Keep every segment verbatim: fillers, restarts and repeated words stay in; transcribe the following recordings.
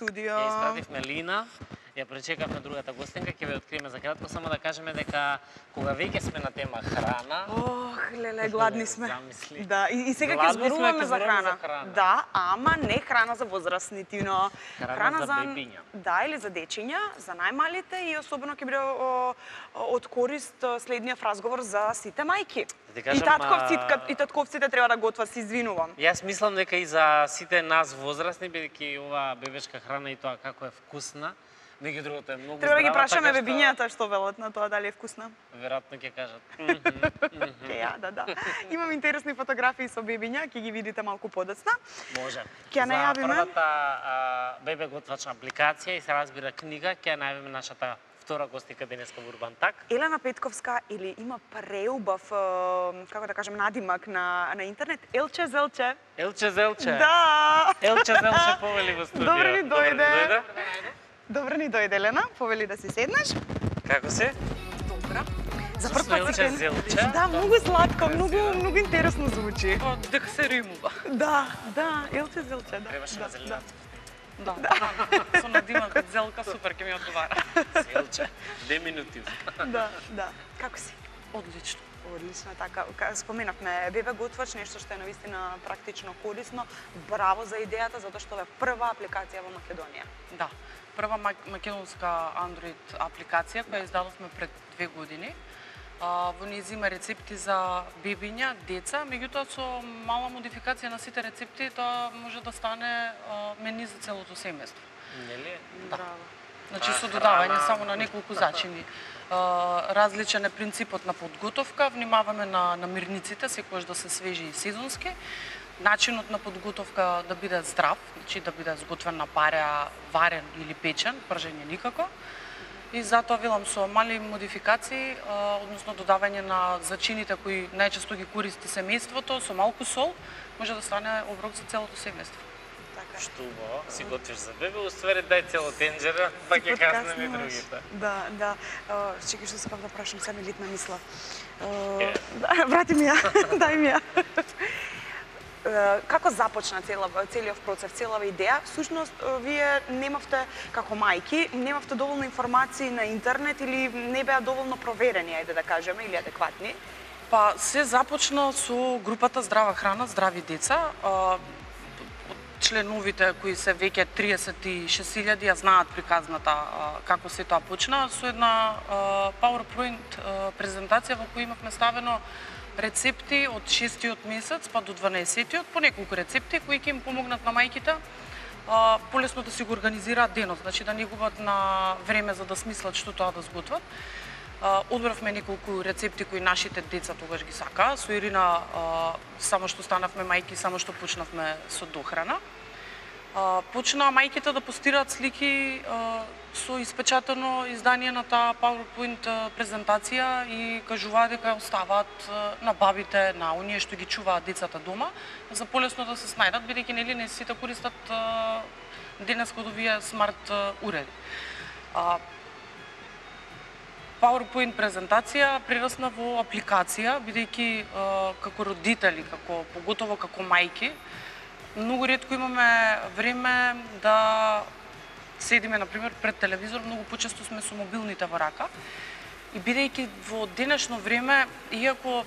студио. Ја испративме Лина, ја пречекавме другата гостинка, ќе ве откриеме за кратко, само да кажеме дека кога веќе сме на тема храна, Ох, леле, гладни сме. Замисли. Да, и, и сега ќе Гладни сме, зборуваме ќе за зборуваме храна. за храна. Да, ама не храна за возрастни, Тино. Храна за бебиња. Да, или за дечиња, за најмалите и особено ќе биде о, од корист следниот разговор за сите мајки. Да кажам, и татковците, а... и татковците треба да готват, се извинувам. Јас мислам дека и за сите нас возрастни, бидејќи оваа бебешка храна и тоа како е вкусна, меѓу другото е многу Треба да ги здрава, прашаме така што бебињата што велат на тоа дали е вкусна. веројатно ќе кажат. Ќе ја, да, да. Имам интересни фотографии со бебиња, ќе ги видите малку подоцна. Може. Ќе За најавиме првата а, бебе готвач апликација и се разбира книга, ќе најавиме нашата втора гостинка денеска во Урбан Так. Елена Петковска, или има преубав, како да кажем, надимак на, на интернет, Елче Зелче. Елче Зелче. Да! Елче Зелче повели во студио. Добре ни дојде. Добре Добре ни дојде, Елена. Повели да си седнеш. Како се? Добра. За Со прв пат Елче се Зелче. Да, многу сладко, многу многу интересно звучи. Дека се римува. Да, да, Елче Зелче, да. Требаше да, на зелената. Да, да. Со надимак од Зелка супер ќе ми одговара. Зелче. Две минути. Да, да. Како си? Одлично. Одлично, така. Споменавме бебе готвач, нешто што е навистина практично корисно. Браво за идејата, затоа што е прва апликација во Македонија. Да. Прва македонска Android апликација која издадовме пред две години. А, во неја има рецепти за бебиња, деца, меѓутоа со мала модификација на сите рецепти, тоа може да стане а, мени за целото семејство. Нели? Браво. Значи А, со додавање храна. само на неколку зачини. А, различен е принципот на подготовка, внимаваме на намирниците, секогаш да се свежи и сезонски. Начинот на подготовка да биде здрав, значи да биде сготвен на пареа, варен или печен, пржење никако. И затоа велам со мали модификации, а, односно додавање на зачините кои најчесто ги користи семејството, со малку сол, може да стане оброк за целото семејство. Така. Што убаво, си готвиш за бебе, уствари дај цело тенџера, па ќе казнеме и другите. Да, да. Uh, чекай што сакам да прашам, сега ми литна мисла. Uh, Е. да, врати ми ја, дај ми ја. Uh, како започна цела, целиот процес, целава идеја? Всушност, uh, вие немавте, како мајки, немавте доволно информации на интернет или не беа доволно проверени, ајде да кажеме, или адекватни? Па се започна со групата Здрава храна, здрави деца. А, членовите кои се веќе триесет и шест илјади ја знаат приказната а, како се тоа почна со една а, PowerPoint а, презентација во која имавме ставено рецепти од шестиот месец па до дванаесеттиот, по неколку рецепти кои ќе им помогнат на мајките а, полесно да си го организираат денот, значи да не губат на време за да смислат што тоа да сготват. Uh, одбравме неколку рецепти кои нашите деца тогаш ги сакаа. Со Ирина uh, само што станавме мајки, само што почнавме со дохрана. Uh, почнаа мајките да постираат слики uh, со испечатено издание на таа PowerPoint uh, презентација и кажуваа дека оставаат uh, на бабите, на оние што ги чуваат децата дома, за полесно да се снајдат, бидејќи нели не сите користат uh, денеска од овие смарт uh, уреди. Uh, PowerPoint презентација прерасна во апликација, бидејќи како родители, како поготово како мајки, многу ретко имаме време да седиме на пример пред телевизор, многу почесто сме со мобилните во рака. И бидејќи во денешно време, иако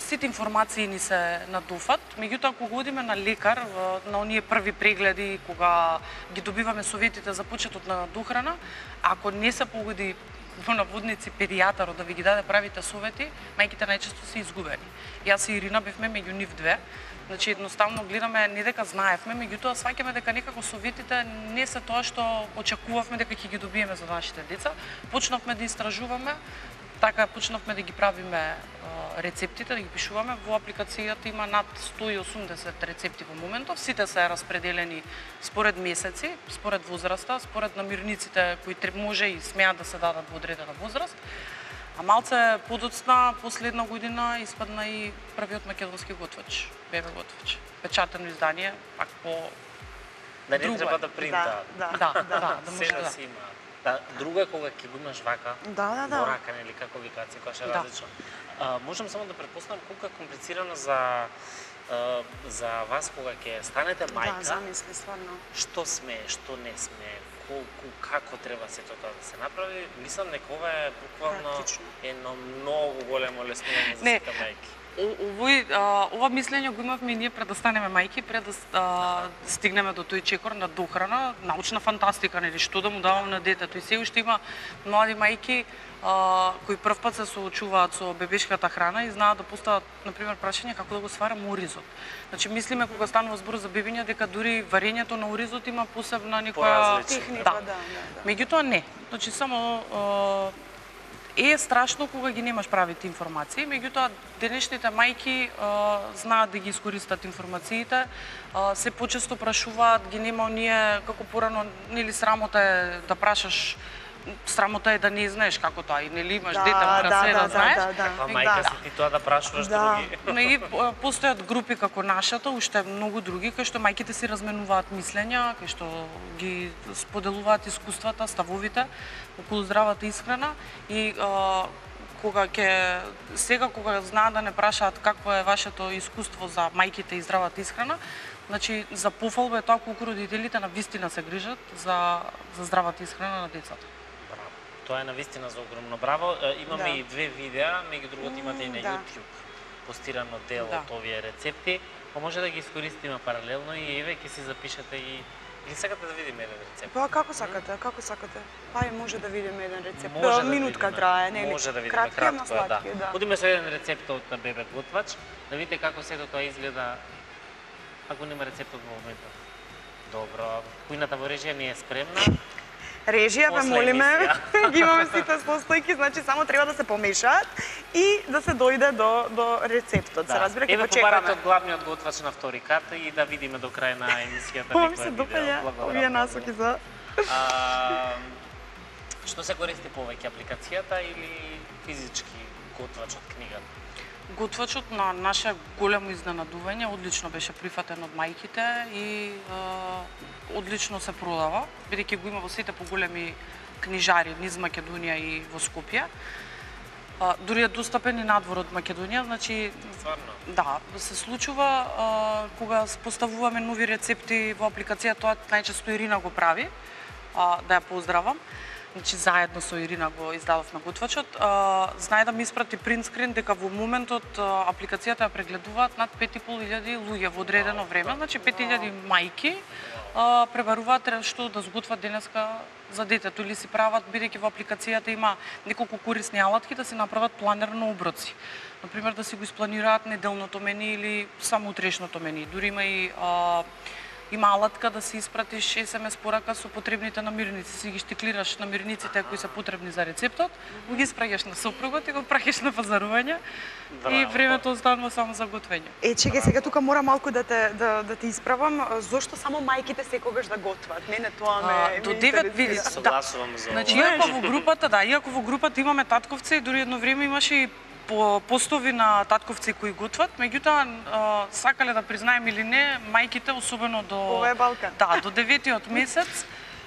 сите информации ни се надофат, меѓутоа кога одиме на лекар, на оние први прегледи, кога ги добиваме советите за почетот на дохрана, ако не се погоди во наводници педијатарот да ви ги даде правите совети, мајките најчесто се изгубени. Јас и Ирина бевме меѓу нив две. Значи едноставно гледаме не дека знаевме, меѓутоа сваќаме дека некако советите не се тоа што очекувавме дека ќе ги добиеме за нашите деца. Почнавме да истражуваме, така почнавме да ги правиме рецептите, да ги пишуваме. Во апликацијата има над сто и осумдесет рецепти во моментов. Сите се распределени според месеци, според возраста, според намирниците кои може и смеат да се дадат во одредена возраст. А малце подоцна, последна година, испадна и првиот македонски готвач, бебе готвач. Печатено издание, пак по Да не друго треба е. да принта. Да, Да, да, да, да може Се да да. си има. Да, друго е кога ќе го имаш вака, Да, да, да. во рака, нели, како викација, која е Да. различно. А, можам само да предпоставам колку е комплицирано за а, за вас кога ќе станете мајка, Да, замисли стварно. што сме, што не сме, колку, како треба сето тоа да се направи. Мислам дека ова е буквално Практично. едно многу големо леснување за Не. сите мајки. О- Овој, а, ова мислење го имавме и ние пред да станеме мајки, пред да с- а, стигнеме до тој чекор на дохрана, научна фантастика, нели, што да му давам на детето. И се уште има млади мајки а, кои прв пат се соочуваат со бебешката храна и знаат да постават, например, прашање како да го сварам оризот. Значи, мислиме кога станува збор за бебиња дека дури варењето на оризот има посебна некоја Поразлично. Техника, Да. да, да, да. Меѓутоа не. Значи само а, е страшно кога ги немаш правите информации, меѓутоа денешните мајки а, знаат да ги искористат информациите, а, се почесто прашуваат, ги нема оние како порано, нели срамота е да прашаш, срамота е да не знаеш како тоа и нели имаш Да, дете мора да, се да, да, да, знаеш. да, да. Каква Да. мајка си ти тоа да прашуваш Да. други? Но и а, постојат групи како нашата, уште многу други, кај што мајките си разменуваат мислења, кај што ги споделуваат искуствата, ставовите околу здравата исхрана и а, кога ќе сега кога знаат да не прашаат какво е вашето искуство за мајките и здравата исхрана, значи за пофалба е тоа колку родителите на вистина се грижат за за здравата исхрана на децата. Браво. Тоа е навистина за огромно браво. Е, Имаме Да. и две видеа, меѓу другото имате и на да. YouTube постирано дел Да. од овие рецепти, па може да ги искористиме паралелно и еве ќе си запишете и или сакате да видиме еден рецепт? Па како сакате, како сакате? Па и може да видиме еден рецепт. Може Па, да минутка видиме. трае, нели? Може да видиме Кратки, ама кратко, е, да. сладки, да. Одиме со еден рецепт од на Бебе Готвач, да видите како сето тоа изгледа ако нема рецептот во моментот. Добро, кујната во режија не е спремна. Режија, ве После молиме, емисија. ги имаме сите состојки, значи само треба да се помешаат и да се дојде до, до рецептот. Се разбира, ќе Еве го побарате чекаме. од главниот готвач на втори кат и да видиме до крај на емисијата Ова ми некоја се видео. допаѓа, Благодарам овие многу. насоки за... А, што се користи повеќе, апликацијата или физички готвач од книгата? Готвачот на наше големо изненадување одлично беше прифатен од мајките и е, одлично се продава, бидејќи го има во сите поголеми книжари низ Македонија и во Скопје. А, дури е достапен и надвор од Македонија, значи Стварно? да, се случува а, кога поставуваме нови рецепти во апликација, тоа најчесто Ирина го прави, а, да ја поздравам. Значи заедно со Ирина го издадов на готвачот. А, знае да ми испрати принтскрин дека во моментот а, апликацијата ја прегледуваат над пет и пол илјади луѓе во одредено време, значи пет илјади мајки а, пребаруваат што да сготват денеска за детето или си прават, бидејќи во апликацијата има неколку корисни алатки да си направат планер на оброци. Например да си го испланираат неделното мени или само утрешното мени. Дури има и а, има алатка да си испратиш ес ем ес порака со потребните намирници, си ги штиклираш намирниците кои се потребни за рецептот, го ги испраќаш на сопругот и го праќаш на пазарување и Браво. времето останува само за готвење. Е, чекај, сега тука мора малку да те да, да те исправам. Зошто само мајките секогаш да готват? Мене тоа ме А, ме до девет интересира. види. Согласувам за Значи, ова. иако во групата, да, иако во групата имаме татковци и дури едно време имаше и по постови на татковци кои готват, меѓутоа а, сакале да признаем или не, мајките особено до Ова е Балкан. Да, до деветиот месец,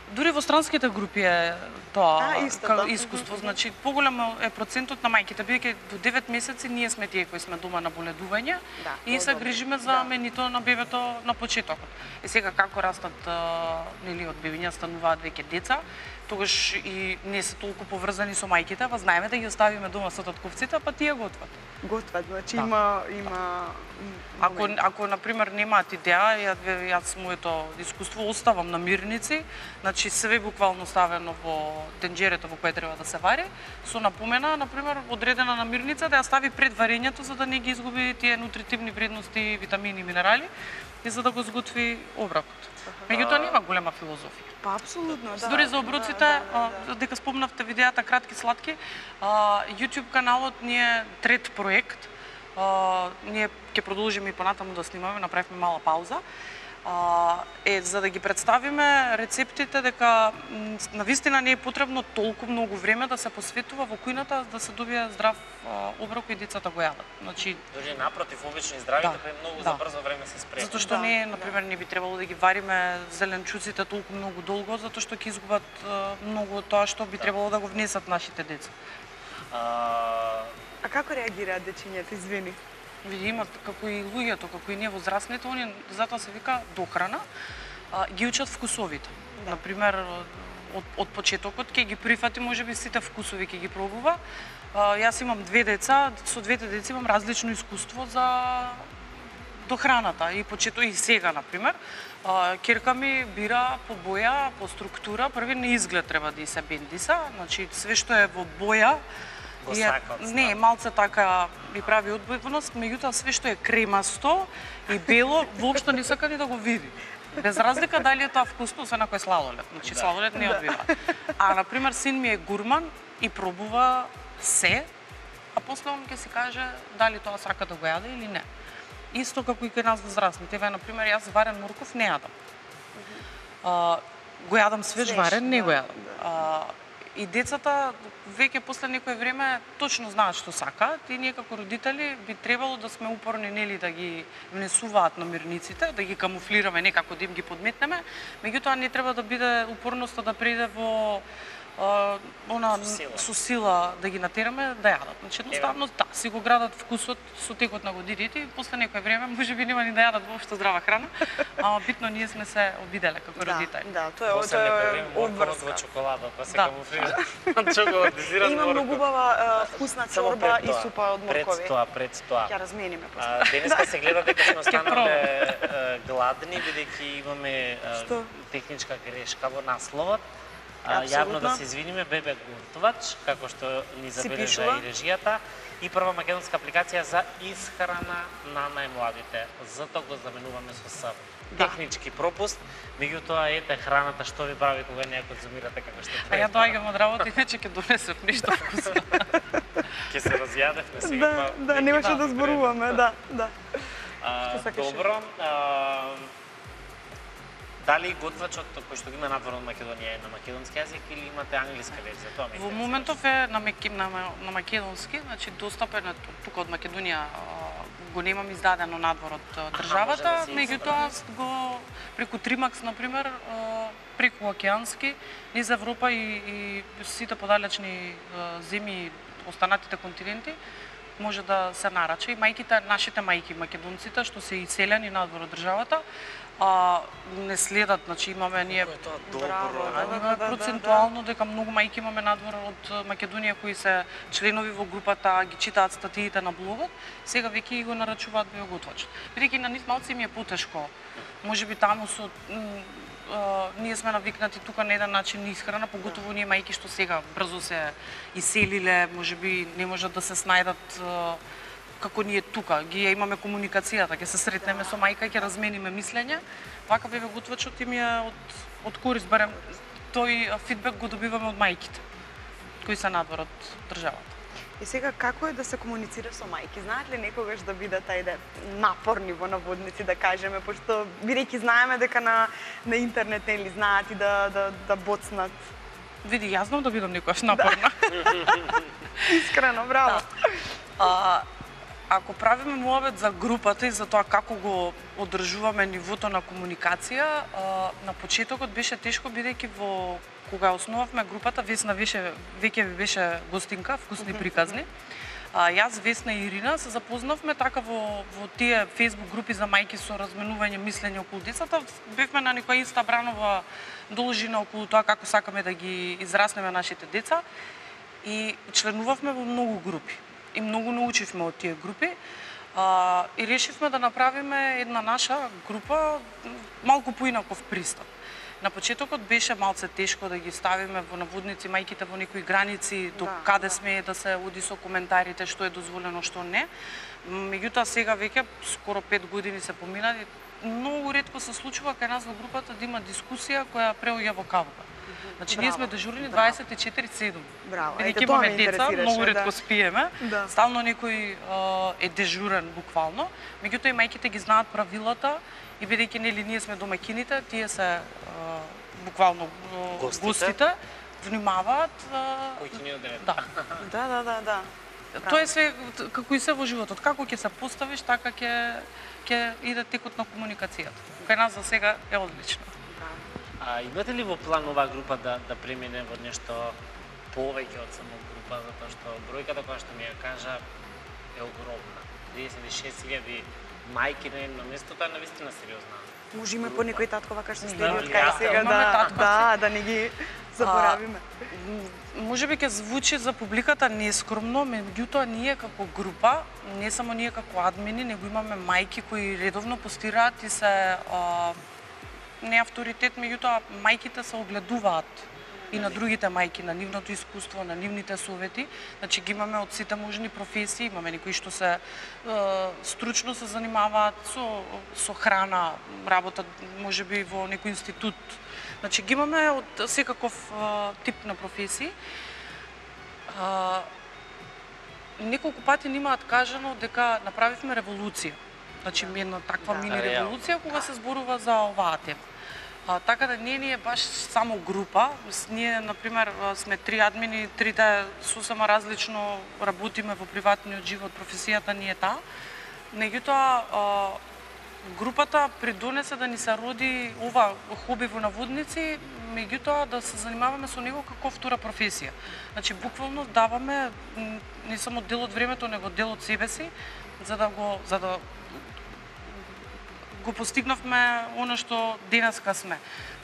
дури во странските групи е тоа А, истото. ка- искуство, значи поголем е процентот на мајките, бидејќи до девет месеци ние сме тие кои сме дома на боледување Да, и тоа се добро. грижиме за Да. менито на бебето на почетокот. Е сега како растат а, нели од бебиња стануваат веќе деца, тогаш и не се толку поврзани со мајките, па знаеме да ги оставиме дома со татковците, па тие готват. Готват, значи Да. има има Ако, ако на пример немаат идеја, ја, јас моето искуство оставам намирници, значи све буквално ставено во тенџерето во кое треба да се вари, со напомена, на пример, одредена намирница да ја стави пред варењето за да не ги изгуби тие нутритивни вредности, витамини и минерали и за да го сготви оброкот. Меѓутоа нема голема филозофија. Па апсолутно, да. Дури за оброците, да, да, да. а, дека спомнавте видеата кратки сладки, а, YouTube каналот ни е трет проект. А, ние ќе продолжиме и понатаму да снимаме, направивме мала пауза. А, е, за да ги представиме рецептите, дека навистина не е потребно толку многу време да се посветува во кујната да се добие здрав а, оброк и децата го јадат. Значи, дори напротив, обично и здравите, да, па многу да. за брзо време се спремат. Затоа што Да, не, да. например, не би требало да ги вариме зеленчуците толку многу долго, затоа што ќе изгубат а, многу од тоа што би Да. требало да го внесат нашите деца. А, А како реагираат дечињата, извини? Види, имат како и луѓето, како и ние возрастните, они затоа се вика дохрана, а, ги учат вкусовите. Да. Например, од, од почетокот ќе ги прифати можеби сите вкусови ќе ги пробува. А, јас имам две деца, со двете деца имам различно искуство за до храната и почето и сега, например. А, керка ми бира по боја, по структура, први на изглед треба да и се бендиса, значи све што е во боја Го и е- сака од не, малце така ми прави одбивност, меѓутоа све што е кремасто и бело воопшто не сака ни да го види. Без разлика дали е тоа вкусно, освен ако е сладолед. Значи Да. сладолед не одбива. А на пример син ми е гурман и пробува се, а после он ќе си каже дали тоа сака да го јаде или не. Исто како и кај нас возрастните. Еве, например, јас варен морков не јадам. А, го јадам свеж Свеж, варен, не да, го јадам. да. А, и децата веќе после некое време точно знаат што сакаат и ние како родители би требало да сме упорни нели да ги внесуваат намирниците, да ги камуфлираме некако да им ги подметнеме, меѓутоа не треба да биде упорноста да преиде во а, она Со сила. со сила да ги натераме да јадат. Значи едноставно да, си го градат вкусот со текот на годините и после некое време можеби нема ни да јадат воопшто здрава храна, ама битно ние сме се обиделе како Да, родители. да, тоа е, После тоа не е правим морковот во обврска. чоколада, па се Да. камуфлира. Чоколадизиран Има морков. многу убава е, вкусна Само чорба пред и тоа, супа од моркови. Пред тоа, пред тоа. Ќе размениме после. А, денеска се гледа дека сме останале пробам. е, гладни, бидејќи имаме е, Што? техничка грешка во насловот. А, Апсолутно. јавно да се извиниме, Бебе Гуртовач, како што ни забележа пишува. и режијата, и прва македонска апликација за исхрана на најмладите. Затоа го заменуваме со С. Да. Технички пропуст, меѓутоа ете храната што ви прави кога не ја конзумирате како што А ја треба. доаѓам од работа, иначе ќе донесев нешто вкусно. Ќе се разјадевме сега. Да, па да, веќе немаше да, да зборуваме, да, да. А, Што сакаш? добро. А, дали готвачот кој што ги има надвор од Македонија е на македонски јазик или имате англиска верзија? Тоа ми Во интересува. моментов е на, меки, на, на македонски, значи достапен е ту- тука од Македонија, а, го немам издадено надвор од а, државата, може да се меѓутоа аз го преку Тримакс например, а, преку океански низ Европа и, и сите подалечни а, земји, останатите континенти, може да се нарача и мајките, нашите мајки македонците што се иселени надвор од државата, а, не следат, значи имаме ние Колку е тоа Браво, добро. да, А, да, имаме да, процентуално дека многу мајки имаме надвор од Македонија кои се членови во групата, ги читаат статиите на блогот, сега веќе и го нарачуваат биоготвачот. Бидејќи на нив малци им е потешко. Можеби таму со м, а, ние сме навикнати тука на еден начин исхрана, поготово ние мајки што сега брзо се иселиле, можеби не можат да се снајдат а, како ние тука, ги ја имаме комуникацијата, ќе се сретнеме со мајка и ќе размениме мислење. Вака бебе готвачот им е од од корист, барем тој а, фидбек го добиваме од мајките кои се надвор од државата. И сега како е да се комуницира со мајки? Знаат ли некогаш да бидат ајде напорни во наводници да кажеме, пошто бидејќи знаеме дека на на интернет нели знаат и да да да боцнат. Види, јас знам да бидам некојаш напорна. Искрено, браво. А, ако правиме муабет за групата и за тоа како го одржуваме нивото на комуникација, а, на почетокот беше тешко бидејќи во кога основавме групата, Весна беше веќе ви беше гостинка, вкусни приказни. А, јас, Весна и Ирина се запознавме така во во тие фејсбук групи за мајки со разменување мислење околу децата. Бевме на некоја иста бранова должина околу тоа како сакаме да ги израснеме нашите деца и членувавме во многу групи. И многу научивме од тие групи. А, и решивме да направиме една наша група малку поинаков пристап. На почетокот беше малце тешко да ги ставиме во наводници мајките во некои граници до Да, каде да. сме да се оди со коментарите, што е дозволено, што не. Меѓутоа сега веќе скоро пет години се поминати, многу ретко се случува кај нас во групата да има дискусија која преоѓа во кавга. Значи Браво. ние сме дежурни Браво. дваесет и четири седум. Браво. Бидејќи Ете, тоа ме имаме деца, интересираше, многу да. ретко спиеме. Да. Стално некој а, е дежурен буквално. Меѓутоа и мајките ги знаат правилата и бидејќи нели ние сме домаќините, тие се а, буквално а, Гостите. гостите внимаваат. а, Кој ќе ни одеве? Да. Да, да, да, да. Тоа е све како и се во животот. Како ќе се поставиш, така ќе ќе иде текот на комуникацијата. Кај нас за сега е одлично. А имате ли во план оваа група да да премине во нешто повеќе од само група, затоа што бројката која што ми ја кажа е огромна. триесет и шест илјади мајки на едно место, тоа е навистина сериозна. Може има по некој татко вака што следи Да, од кај да, сега имаме да, татковци. да, да не ги заборавиме. Може би ќе звучи за публиката нескромно, меѓутоа ние како група, не само ние како админи, него имаме мајки кои редовно постираат и се а, не авторитет, меѓутоа мајките се огледуваат и на другите мајки, на нивното искуство, на нивните совети. Значи ги имаме од сите можни професии, имаме некои што се е, стручно се занимаваат со со храна, работат можеби во некој институт. Значи ги имаме од секаков е, тип на професии. А, неколку пати ни имаат кажано дека направивме револуција. Значи една таква Да. мини Реално. револуција кога се зборува за оваа тема. А, така да не ни е баш само група. С- Ние, например, а, сме три админи, трите сосема различно работиме во приватниот живот, професијата ни е таа. Меѓутоа, а, групата придонесе да ни се роди ова хоби во наводници, меѓутоа да се занимаваме со него како втора професија. Значи, буквално даваме м, не само дел од времето, него дел од себе си, за да го за да го постигнавме она што денеска сме.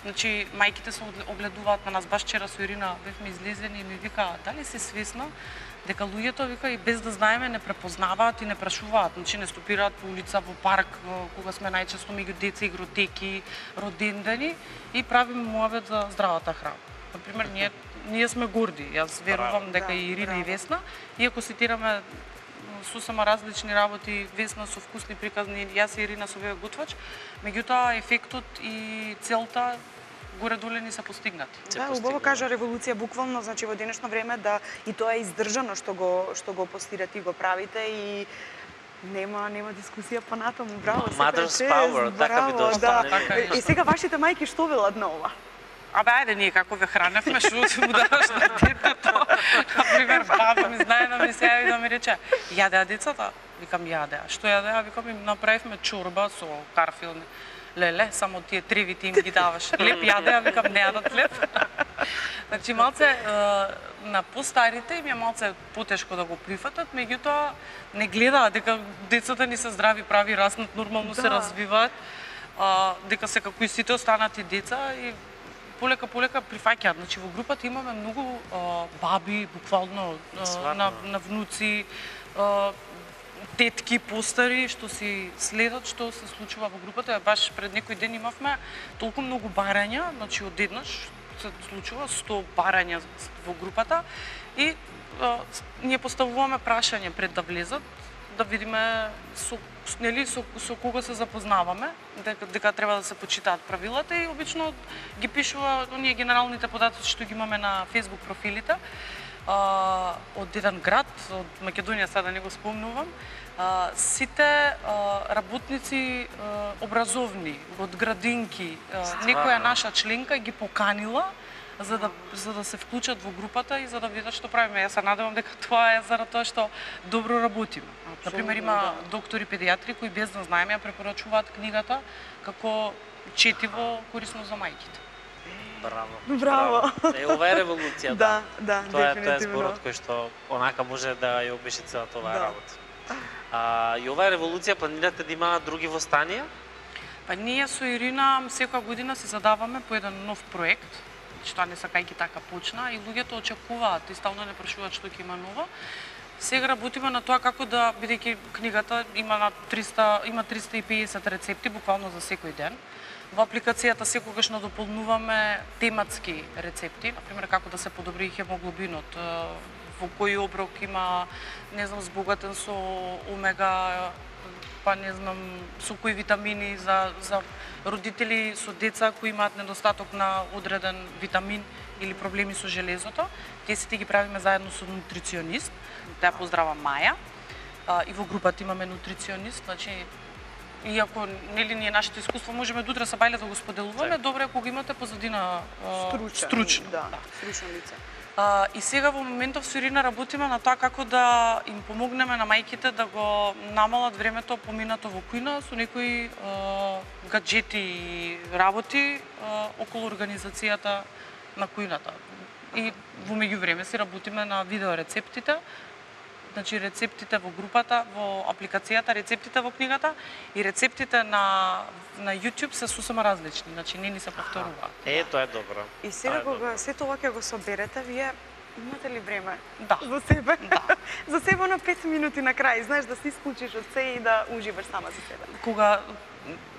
Значи, мајките се огле- огледуваат на нас. Баш вчера со Ирина бевме излезени и ми вика, дали си свесна дека луѓето, вика, и без да знаеме, не препознаваат и не прашуваат. Значи, не стопираат по улица, во парк, во- кога сме најчесто меѓу деца, игротеки, родендени и правиме муавет за здравата храна. Например, ние, ние сме горди. Јас верувам дека Да, и Ирина и браво. Весна, иако цитираме сосема различни работи, Весна со вкусни приказни, јас и Ирина со веб готвач, меѓутоа ефектот и целта горе-доле ни се постигнати. Се Да, убаво постигнува. кажа револуција буквално, значи во денешно време да и тоа е издржано што го што го постирате и го правите и нема нема дискусија понатаму. Браво, секоја Mother's чест, power, така би браво, дошло, да. така е. И сега вашите мајки што велат на ова? Абе, ајде, ние како ве храневме, што си му даваш на детето. Например, баба ми знае да ми се јави да ми рече, јадеа децата? Викам, јадеа. Што јадеа? Викам, им направивме чорба со карфил. Леле, само тие тревите им ги даваш. Леп јадеа, викам, не јадат леп. Значи, малце, е, на постарите им е малце потешко да го прифатат, меѓутоа не гледаат дека децата ни се здрави, прави, раснат, нормално Да. се развиваат, а, дека се како и сите останати деца и полека полека прифаќаат. Значи во групата имаме многу а, баби, буквално а, Сватно. на, на внуци, а, тетки постари што си следат што се случува во групата. Баш пред некој ден имавме толку многу барања, значи одеднаш се случува сто барања во групата и а, с- ние поставуваме прашање пред да влезат, да видиме со с- нели со, со кого се запознаваме, дека, дека треба да се почитаат правилата и обично ги пишува оние генералните податоци што ги имаме на Facebook профилите. А, од еден град, од Македонија, сега да не го спомнувам, а, сите а, работници а, образовни, од градинки, а, некоја наша членка ги поканила за да, за да се вклучат во групата и за да видат што правиме. Јас се надевам дека тоа е заради тоа што добро работиме. Например, има доктори педиатри кои без да знаеме ја препорачуваат книгата како четиво корисно за мајките. Браво. Браво. Е, ова е револуција, Да, да, Тоа е, тоа е дефинитивно. зборот кој што онака може да ја опише целата оваа Да. работа. А, и оваа револуција планирате да има други востанија? Па ние со Ирина секоја година си задаваме по еден нов проект, што не сакајќи така почна и луѓето очекуваат и стално не прашуваат што ќе има ново. Сега работиме на тоа како да, бидејќи книгата има на триста, има триста и песет рецепти буквално за секој ден. Во апликацијата секогаш надополнуваме тематски рецепти, например како да се подобри хемоглобинот, е, во кој оброк има, не знам, збогатен со омега па не знам, со кои витамини за за родители со деца кои имаат недостаток на одреден витамин или проблеми со железото. Тие сите ги правиме заедно со нутриционист. Таа поздрава Маја. А, и во групата имаме нутриционист, значи иако нели ние нашето искуство можеме до утре са бајле да го споделуваме, добро е кога го имате позадина а, Стручен, стручно. Да, стручно лице. А, и сега во моментов со Ирина работиме на тоа како да им помогнеме на мајките да го намалат времето поминато во кујна со некои а, гаджети и работи а, околу организацијата на кујната. И во меѓувреме си работиме на видео рецептите, значи рецептите во групата, во апликацијата, рецептите во книгата и рецептите на на YouTube се сосема различни, значи не ни се повторуваат. Е, тоа е добро. И сега кога сето ова ќе го соберете, вие имате ли време Да. за себе? Да. За себе на пет минути на крај, знаеш, да се исклучиш од се и да уживаш сама за себе. Кога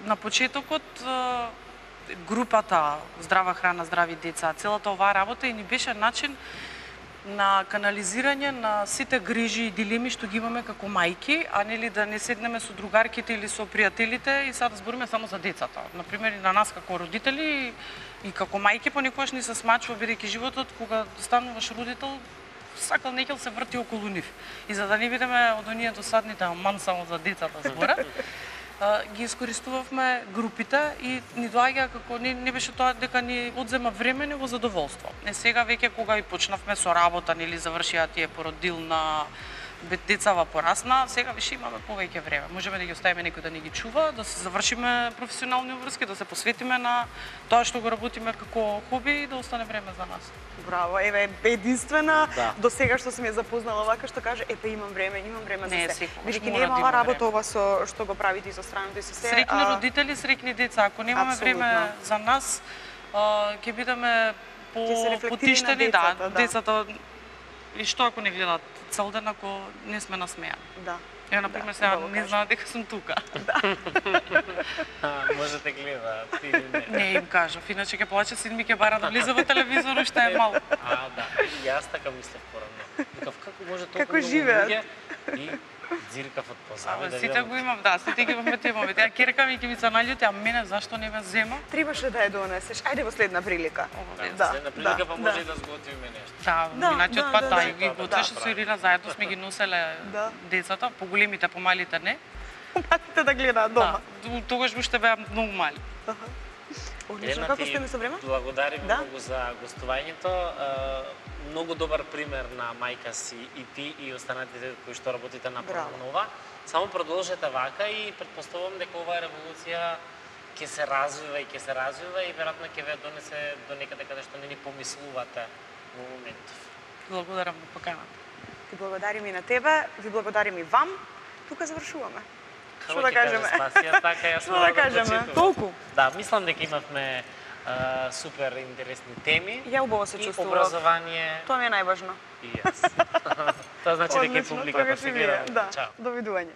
на почетокот а, групата Здрава храна, здрави деца, целата оваа работа и ни беше начин на канализирање на сите грижи и дилеми што ги имаме како мајки, а нели да не седнеме со другарките или со пријателите и сега да збориме само за децата. Например, и на нас како родители и како мајки понекогаш ни се смачува, бидејќи животот кога стануваш родител, сакал некел се врти околу нив. И за да не бидеме од оние досадните аман само за децата збора, ги искористувавме групите и ни доаѓа како не, не беше тоа дека ни одзема време, него задоволство. Не сега веќе кога и почнавме со работа, нели завршија тие породилна децава порасна, сега више имаме повеќе време. Можеме да ги оставиме некој да ни ги чува, да се завршиме професионални врски, да се посветиме на тоа што го работиме како хоби и да остане време за нас. Браво, еве единствена Да. до сега што сум ја запознала вака што каже, епе имам време, имам време Не, за се. секогаш Бидејќи мора не е да мала има работа време. ова со што го правите и со страното и со се. Среќни а, родители, среќни деца. Ако немаме Апсолутно. време за нас, а, ќе бидеме Ќе се рефлектира по на потиштени, децата, да, да. децата. И што ако не гледат цел ден ако не сме насмеани? Да. Ја, например, Да, сега убаво не кажа. знаат дека сум тука. А, може да гледаат или не. Не им кажав, иначе ќе плаче, син ми ќе бара да влиза во телевизорот, што е мал. А, да. И јас така мислев порано. Викав, како може толку Како многу живеат? луѓе и дзиркав од позади Абе, да сите видам. го имам, да, сите ги имаме темови. Ја керка ми ќе ми се наљути, а мене зашто не ме зема? Требаше да ја донесеш. Ајде во следна прилика. Ова, Да, Следна прилика да, па може да. и да сготвиме нешто. Да, Да, минатиот да, пат да, да, да. и ги Да, готвеше да, со Ирина, заедно сме ги носеле Да. децата, поголемите, помалите не. Патите да гледаат дома. Да, тогаш уште беа многу мали. Одлично, Елена, како ти сте ми со време? Благодарим Да. многу за гостувањето. Е, Многу добар пример на мајка си и ти и останатите кои што работите на Браво. Пронова. Само продолжете вака и претпоставувам дека оваа револуција ќе се развива и ќе се развива и веројатно ќе ве донесе до некаде каде што не ни помислувате во моментов. Благодарам на поканата. Ти благодарим и на тебе, ви благодарим и вам. Тука завршуваме. Како да ќе каже кажеме? Спасија, така јас Што мора да кажеме? прочитувам. Толку. Да, мислам дека имавме а, супер интересни теми. Ја убаво се и чувствував. образование Тоа ми е најважно. и јас. Тоа значи дека и Одлично, публиката тогаш се и вие. гледа. Да, Чао. довидување.